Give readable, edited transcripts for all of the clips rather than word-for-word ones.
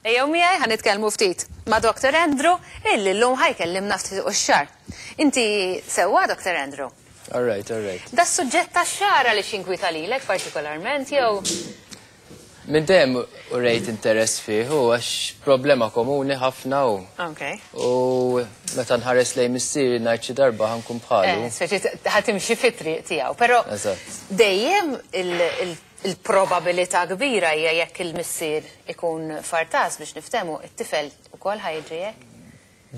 Ejjew miegħi ħa nitkellmu ftit ma' Dr. Andrew illi llum ħa jkellimna ftit fuq ix-xagħar. Inti sewwa Dr. Andrew? All right, all right. Da suġġett tax-xagħar għaliex jinkwieta lilek partikolarment jew? Minn dejjem urejt interess fih u għax problema komuni ħafna u. Okay. U meta nħares lejn missieri ngħid xi darba ħa nkun bħalu. Eh, speċi ħa timxi fit-triq tiegħu, però dejjem il-probabilità kbira hija jekk il-missier ikun fartas biex niftehmu, it-tifel ukoll ħa jiġri hekk?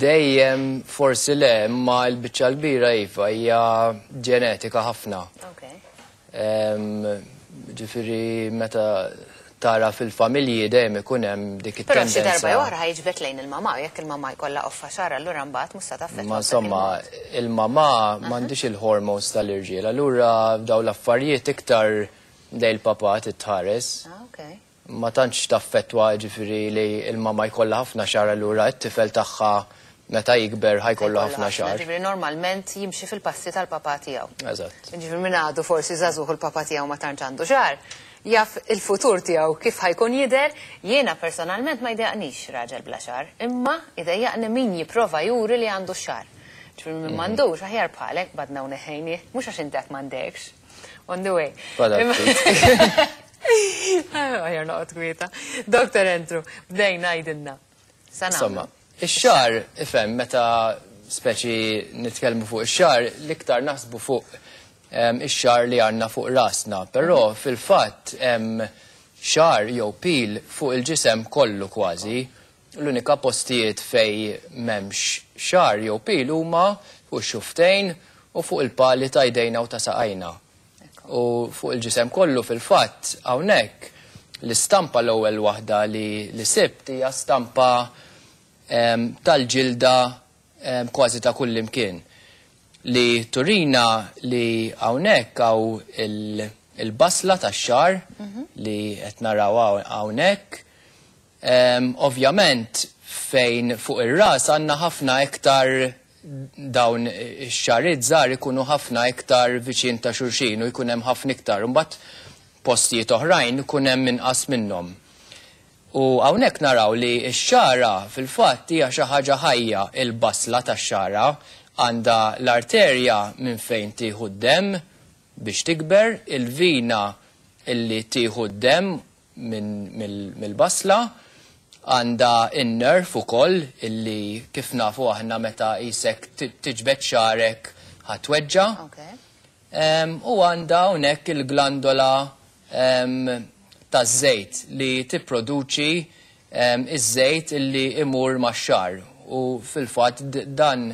Dejjem forsi le, imma l-biċċa l-kbira iva hija ġenetika ħafna. Okay. Ġifieri meta tara fil-familji dejjem ikun hemm dik it-tendenza. Però xi darba jew oħra ħa jiġbed lejn il-mamà, u jekk il-mamà jkollha qoffa xagħar allura mbagħad mhux se taffettwa. Ma insomma, il-mamà m'għandhiex il-hormones tal-irġiel, allura dawn l-affarijiet iktar lejn il-papà titħares. Ah, okay. Ma tantx taffettwa jiġifieri li l-mamà jkollha ħafna xagħar allura t-tifel tagħha meta jikber ħa jkollu ħafna xagħar. Jiġifieri normalment jimxi fil-passi tal-papà tiegħu. Eżatt. Jiġifieri min għadu forsi żagħżugħ u l-papà tiegħu ma tantx għandu xagħar, jaf il-futur tiegħu kif ħa jkun jidher. Jiena personalment ma jdejjaqnix raġel bla xagħar, imma jdejjaqni min jipprova juri li għandu x-xagħar. Jiġifieri min m'għandux aħjar bħalek qbadna u neħħejnieh, mhux għax inti għad m'għandekx. On the way. Aħjar noqgħod kwieta. Dr. Andrew, bdejna għidilna. Insomma, ix-xagħar, ifhem, meta speċi nitkellmu fuq ix-xagħar, l-iktar naħsbu fuq ix-xagħar li għandna fuq rasna, però fil-fatt hemm xagħar jew pil fuq il-ġisem kollu kważi. L-unika postijiet fejn m'hemmx xagħar jew pil huma fuq ix-xufftejn u fuq il-pali ta' jdejna u ta' saqajna. U fuq il-ġisem kollu fil-fatt hawnhekk l-istampa l-ewwel waħda li li sibt hija stampa tal-ġilda kważi ta' kullimkien li turina li hawnhekk hawn il-basla tax-xagħar li qed naraw hawnhekk. Ovvjament fejn fuq ir-ras għandna ħafna iktar dawn ix-xagħriet żgħar ikunu ħafna iktar viċin ta' xulxin u jkun hemm ħafna iktar. Imbagħad postijiet oħrajn ikun hemm inqas minnhom. U hawnhekk naraw li x-xagħra fil-fatt hija xi ħaġa ħajja, il-basla tax-xagħra għandha l-arterja minn fejn tieħu d-demm biex tikber, il-vina illi tieħu d-demm mill-basla, għandha n-nerv ukoll illi kif nafu aħna meta qisek tiġbed xagħrek ħa tweġġa'. U għandha hawnhekk il-glandola taż-żejt li tipproduċi ż-żejt illi imur max-xagħar u fil-fatt dan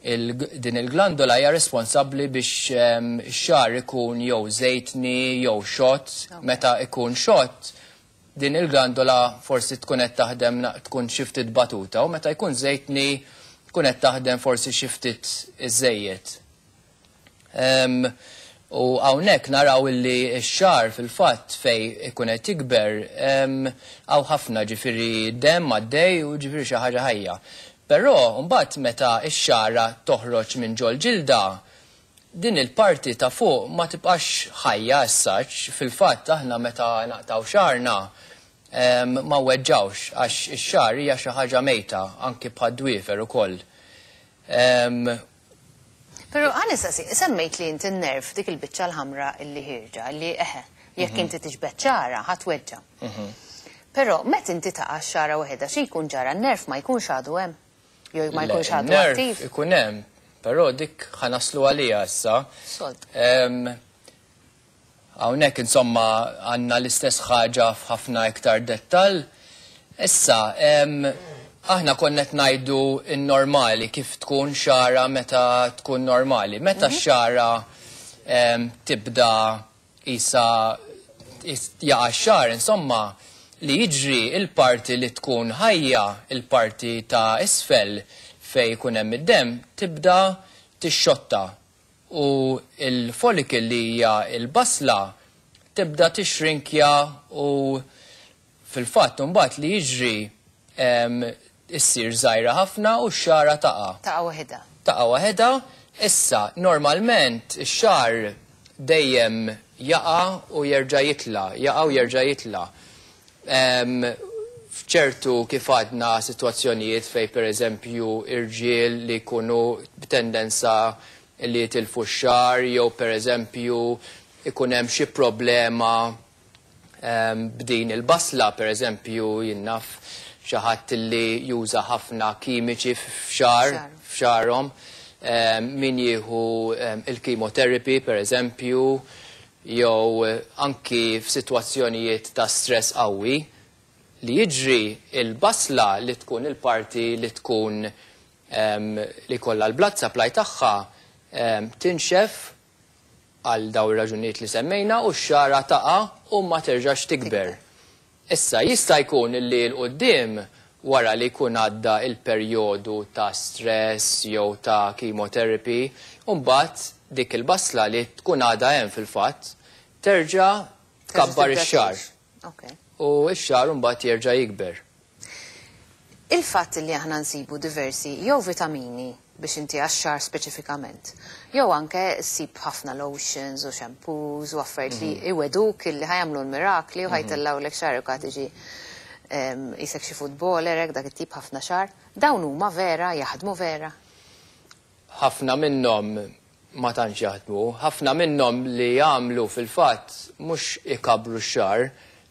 Din il-glandola hija responsabbli biex ix-xagħar ikun jew żejtni jew xott. Meta ikun xott, din il-glandola forsi tkun qed taħdem tkun xi ftit batuta u meta jkun żejtni tkun qed taħdem forsi xi ftit iżżejjed. U hawnhekk naraw illi x-xagħar fil-fatt fejn ikun qed jikber hawn ħafna ġifieri demm għaddej u ġifieri xi ħaġa ħajja. Però mbagħad meta x-xagħra toħroġ minn ġol-ġilda, din il-parti ta' fuq ma tibqax ħajja as such, fil-fatt aħna meta naqtgħu xagħarna ma nweġġgħux għax ix-xagħar hija xi ħaġa mejta anki bħad-dwiefer ukoll. Però ħa nistaqsik, semmejt li inti n-nerv, dik il-biċċa l-ħamra illi ħierġa, illi eħe, jekk inti tiġbed xagħra ħa tweġġa'. Però meta inti taqa' x-xagħra waħedha xi jkun ġara n-nerv ma jkunx għadu hemm? Jew ma jkunx għadu attiv? Le, n-nerv ikun hemm, però dik ħa naslu għaliha issa. Sold. Hawnhekk insomma għandna l-istess ħaġa f'ħafna iktar dettall. Issa, aħna konna qed ngħidu n-normali, kif tkun xagħra meta tkun normali. Meta x-xagħra tibda qisha jaqa' x-xagħar, insomma, li jiġri il-parti li tkun ħajja, il-parti ta' isfel fejn ikun hemm id-demm, tibda tixxotta u l-follicle li hija l-basla tibda tixrinkja u fil-fatt imbagħad li jiġri issir żgħira ħafna u x-xagħra taqa'. Taqa' waħedha. Taqa' waħedha. Issa, normalment ix-xagħar dejjem jaqa' u jerġa' jitla', jaqa' u jerġa' jitla'. F'ċertu, kif għadna, sitwazzjonijiet fejn pereżempju irġiel li jkunu b'tendenza li jitilfu x-xagħar jew pereżempju ikun hemm xi problema b'din il-basla, pereżempju jien naf xi ħadd li juża ħafna kimiċi f'xagħar f'xagħarhom, min jieħu il-chemotherapy pereżempju, jew anki f'sitwazzjonijiet ta' stress qawwi, li jiġri il-basla li tkun il-parti li tkun li jkollha l-blood supply tagħha tinxef għal dawn ir-raġunijiet li semmejna u x-xagħra taqa' u ma terġax tikber. Issa, jista' jkun li 'l quddiem, wara li jkun għadda l-perjodu ta' stress jew ta' chemotherapy, imbagħad dik il-basla li tkun għadha hemm fil-fatt, terġa' tkabbar ix-xagħar. U x-xagħar imbagħad jerġa' jikber. Il-fatt li aħna nsibu diversi jew vitamini biex inti għax-xagħar speċifikament, jew anke ssib ħafna lotions u shampoos u affarijiet li jwegħduk illi ħa jagħmlu l-mirakli u ħa jtellgħulek xagħrek u ħa tiġi qisek xi footballer hekk dak it-tip ħafna xagħar. Dawn huma vera, jaħdmu vera? Ħafna minnhom ma tantx jaħdmu. Ħafna minnhom li jagħmlu fil-fatt mhux ikabbru x-xagħar,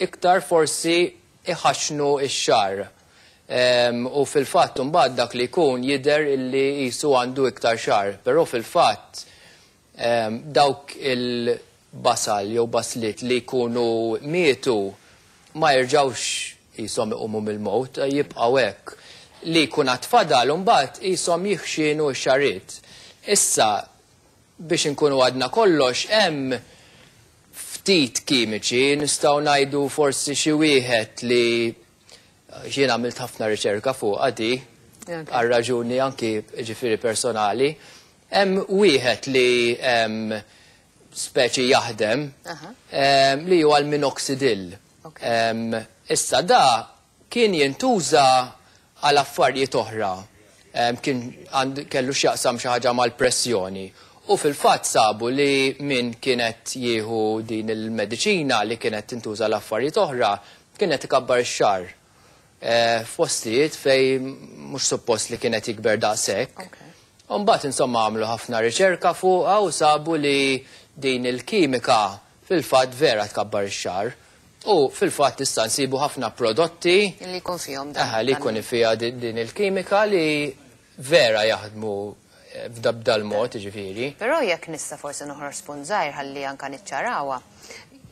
iktar forsi iħaxxnu x-xagħar. U fil-fatt imbagħad dak li jkun jidher illi qisu għandu iktar xagħar, però fil-fatt dawk il-basal jew basliet li jkunu mietu ma jerġgħux qishom iqumu mill-mewt, jibqgħu hekk. Li jkun għad fadal imbagħad qishom jiħxienu x-xagħriet. Issa, biex inkunu għadna kollox, hemm ftit kimiċi, nistgħu ngħidu forsi xi wieħed li jien għamilt ħafna riċerka fuqha di, għal raġuni anki ġifieri personali. Hemm wieħed li speċi jaħdem li huwa l-minoxidil. Issa da kien jintuża għal affarijiet oħra. Kien kellu x'jaqsam xi ħaġa mal-pressjoni. U fil-fatt sabu li min kien qed jieħu din il-mediċina li kienet tintuża għal affarijiet oħra kien qed ikabbar ix-xagħar f'postijiet fejn mhux suppost li kien qed jikber daqshekk. U mbagħad insomma għamlu ħafna riċerka fuqha u sabu li din il-kimika fil-fatt vera tkabbar ix-xagħar. U fil-fatt issa nsibu ħafna prodotti li jkun fihom dan. Aha, li jkun fiha din il-kimika li vera jaħdmu b'dal mod, ġifieri. Però jekk nista' forsi noħroġ spunt żgħir ħalli anka niċċarawha,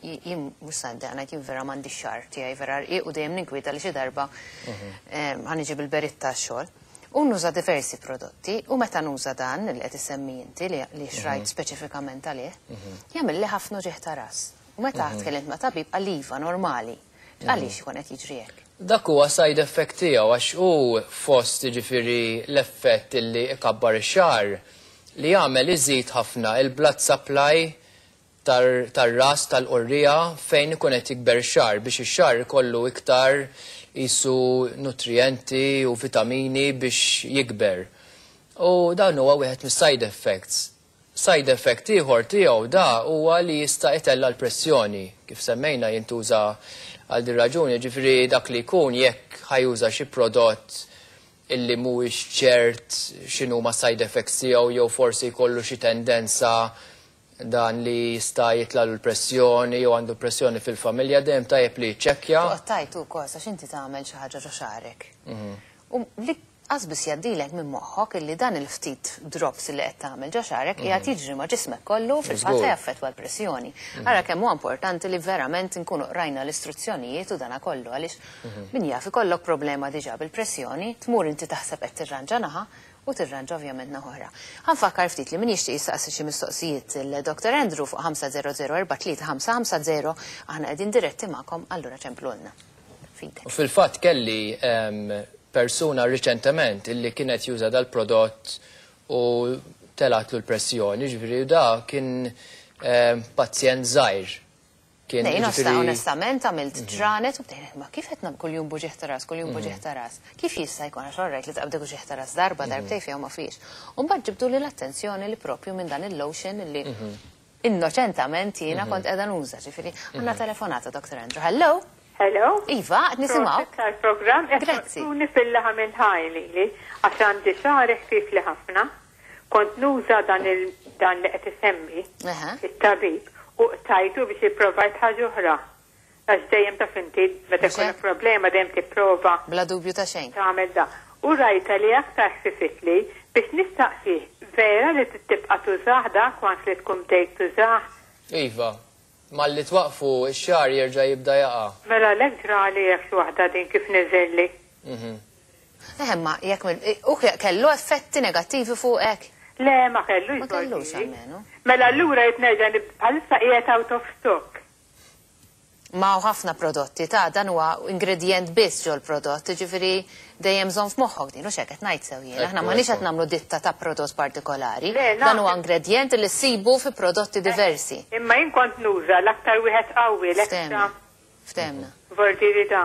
jien mhux se ngħid jien vera m'għandix xagħar tiegħi vera rqiq u dejjem ninkwieta li xi darba ħa niġi bil-beritta għax-xogħol. U nuża diversi prodotti u meta nuża dan li qed issemmi inti li xrajt speċifikament għalih, jagħmilli ħafna uġigħ ta' ras. U meta tkellimt ma' tabib qal iva normali. Għaliex ikun qed jiġri hekk? Dak huwa side effect tiegħu għax hu fost jiġifieri l-effett illi ikabbar ix-xagħar li jagħmel iżid ħafna il-blood supply tar-ras tal-qorriegħa fejn ikun qed jikber ix-xagħar biex ix-xagħar ikollu iktar qisu nutrijenti u vitamini biex jikber. U dan huwa wieħed mis-side effects. Side effect ieħor tiegħu da huwa li jista' itella' l-pressjoni. Kif semmejna jintuża għal din raġuni, ġifieri dak li jkun jekk ħa juża xi prodott illi mhuwiex ċert x'inhuma side effects tiegħu jew forsi jkollu xi tendenza dan li jista' jitlalu l-pressjoni jew għandu pressjoni fil-familja, dejjem tajjeb li jiċċekkja. Toqgħod tgħid ukoll għax inti tagħmel xi ħaġa ġo xagħrek. U li qas biss jgħaddilek minn moħħok illi dan il-ftit drops li qed tagħmel ġo xagħrek qiegħed jiġri ma' ġismek kollu fil-fatt jaffettwa l-pressjoni. Ara kemm huwa importanti li verament nkunu qrajna l-istruzzjonijiet u dana kollu għaliex min jaf ikollok problema diġà bil-pressjoni, tmur inti taħseb qed tirranġa naħa u tirranġa ovvjament naħa oħra. Ħa nfakkar ftit li min jixtieq jistaqsi xi mistoqsijiet il-Dr. Andrew fuq 5004350 aħna qegħdin diretti magħkom allura ċemplulna. U fil-fatt kelli persuna riċentement illi kienet juża dal-prodott u telatlu l-pressjoni, ġifieri da kien pazjent żgħir. Kien onestament għamilt ġranet u bdejna ma kif qed kuljum b'uġigħ ta' ras, kuljum b'uġigħ ta' ras. Kif jista' jkun għax orrajt li taqbdek uġigħ ta' ras darba darbtejn fiha ma fiex. U mbagħad ġibdu li l-attenzjoni li propju minn dan il-lotion li innoċentament jiena kont qiegħda nuża, ġifieri għandna telefonata Dr. Andrew. Hello? Hello? Iva, qed nisimgħu. Tal-programm Grazzi. Tuni fil-laħam il-ħaj lili, għax għandi xagħri ħfif li ħafna. Kont nuża dan li qed isemmi it-tabib u tajtu biex ipprovajt ħaġa oħra. Għax dejjem taf inti meta Mhux jkollok hekk? problema dejjem tipprova Bla dubju ta' xejn. tagħmel da. U rajta li aktar ħfifitli biex nistaqsi vera li tibqa' tużah dak once li tkun bdejt tużah. Iva, malli twaqfu x-xagħar jerġa' jibda jaqa'. Mela lek ġrali jekk xi waħda din kif niżelli. Ma jekk u kellu effetti negattivi fuqek? Le, ma kellux. Ma kellux Bordi. almenu. Mela allura jitnerġa' bħalissa qiegħed out of stock. Ma hawn ħafna prodotti ta' dan huwa ingredient biss ġol prodott, ġifieri dejjem żomm f'moħħok din, u xek qed ngħid sew jien. Aħna m'aħniex qed nagħmlu ditta ta' prodott partikolari. Le, Dan huwa ingredient li ssibu fi prodotti diversi. Imma jien kont nuża l-aktar wieħed qawwi, l-extra Ftehmna. Ftehmna. Vordiri da.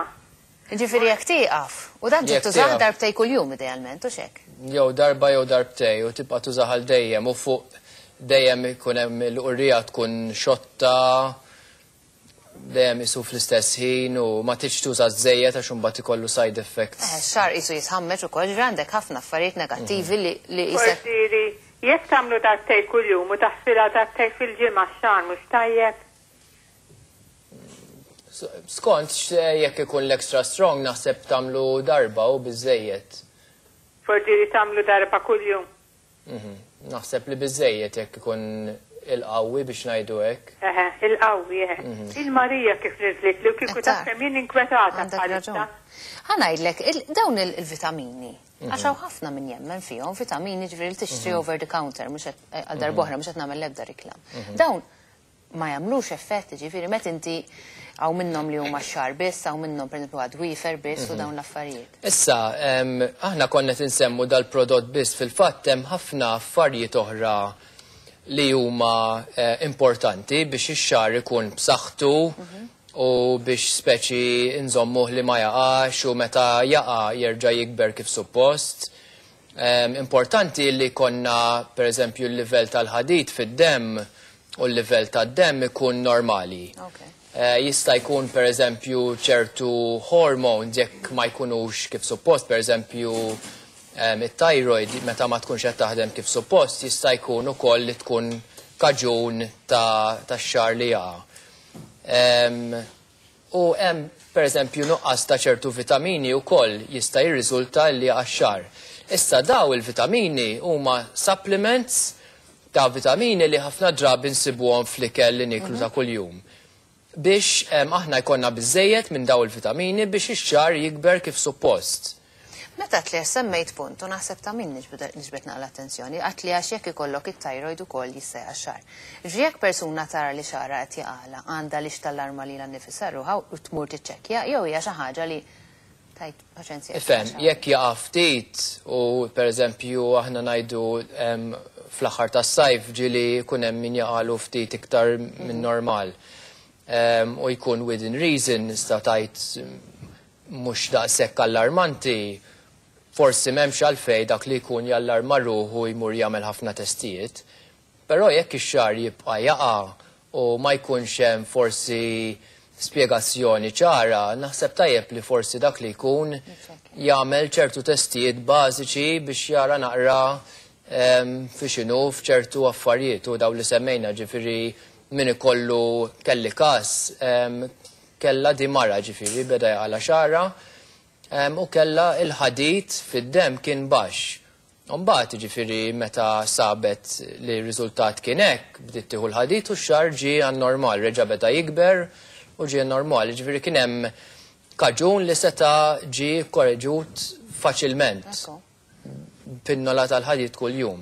Ġifieri jekk tieqaf, u dan ġiet Jekk tużah tieqaf. darbtej kuljum idealment, u xek. Jew darba jew darbtej u tibqa' tużah għal dejjem u fuq dejjem ikun hemm il-qurrija tkun xotta, dejjem isu fl-istess ħin u ma tridx tuża żejjed għax imbagħad ikollu side effects. Xagħar qisu jitħammeġ ukoll, ġifieri għandek ħafna affarijiet negattivi li qisek. Vordiri, jekk tagħmlu darbtej kuljum u taħsilha darbtej fil-ġimgħa x-xagħar mhux tajjeb. Skont jekk ikun l-extra strong naħseb tagħmlu darba u biżejjed. Vordiri tagħmlu darba kuljum. Naħseb li biżejjed jekk ikun il-qawwi biex ngħidu hekk. Eħe, il-qawwi, eħe. Il-Marija kif niżlit li u kieku Qed taf tara. kemm jien inkwetata Għandek bħalissa. raġun. Ħa ngħidlek, dawn il-vitamini, għax hawn ħafna min jemmen fihom, vitamini ġifieri li tixtri over the counter, mhux għal darb'oħra mhux qed nagħmel l-ebda reklam. Dawn ma jagħmlux effetti, ġifieri meta inti hawn minnhom li huma xagħar biss, hawn minnhom pereżempju għad-dwiefer biss u dawn l-affarijiet. Issa, aħna konna tinsemmu dal-prodott biss, fil-fatt hemm ħafna affarijiet oħra li huma importanti biex ix-xagħar ikun b'saħħtu u biex speċi nżommuh li ma jaqax u meta jaqa' jerġa' jikber kif suppost. Importanti li konna per eżempju l-livell tal-ħadid fid-demm u l-livell tad-demm ikun normali. Jista' jkun per eżempju ċertu hormones jekk ma jkunux kif suppost, per eżempju it-thyroid meta ma tkunx qed taħdem kif suppost, jista' jkun ukoll li tkun kaġun ta' xagħar li jaqa'. U hemm per eżempju nuqqas ta' ċertu vitamini wkoll jista' jirriżulta li jaqa' x-xagħar. Issa daw il-vitamini huma supplements ta' vitamini li ħafna drabi nsibuhom fl-ikel li niklu ta' kuljum. Biex aħna jkollna biżejjed minn daw il-vitamini biex ix-xagħar jikber kif suppost. Meta tli semmejt punt u naħseb ta' min niġbed naqra l-attenzjoni, għat li għax jekk ikollok it-thyroid ukoll jista' jaqa' x-xagħar. Ġifieri jekk persuna tara li xagħarha qed jaqala, għandha lix tallarma lilha nnifisha ruħha u tmur tiċċekkja, jew hija xi ħaġa li tajt paċenzja. Ifhem, jekk jaqa' ftit u per eżempju aħna ngħidu fl-aħħar tas-sajf ġieli jkun hemm min jaqalu ftit iktar minn normal. U jkun within reason, nista' tajt mhux daqshekk allarmanti, forsi m'hemmx għalfejn dak li jkun jallarma ruħu jmur jagħmel ħafna testijiet. Però jekk ix-xagħar jibqa' jaqa' u ma jkunx hemm forsi spjegazzjoni ċara, naħseb tajjeb li forsi dak li jkun jagħmel ċertu testijiet bażiċi biex jara naqra fi x'inhu f'ċertu affarijiet u daw li semmejna, ġifieri min ikollu kelli każ kella di mara, ġifieri beda jaqala xagħarha u kella il-ħadid fid-dem kien baxx. Mbagħad ġifieri meta sabet li r-riżultat kien hekk, bdiet tieħu l-ħadid u x-xagħar ġie għan-normal, reġa' beda jikber u ġie normal. Ġifieri kien hemm kaġun li seta' ġie korreġut faċilment. Pinnola tal-ħadid kuljum.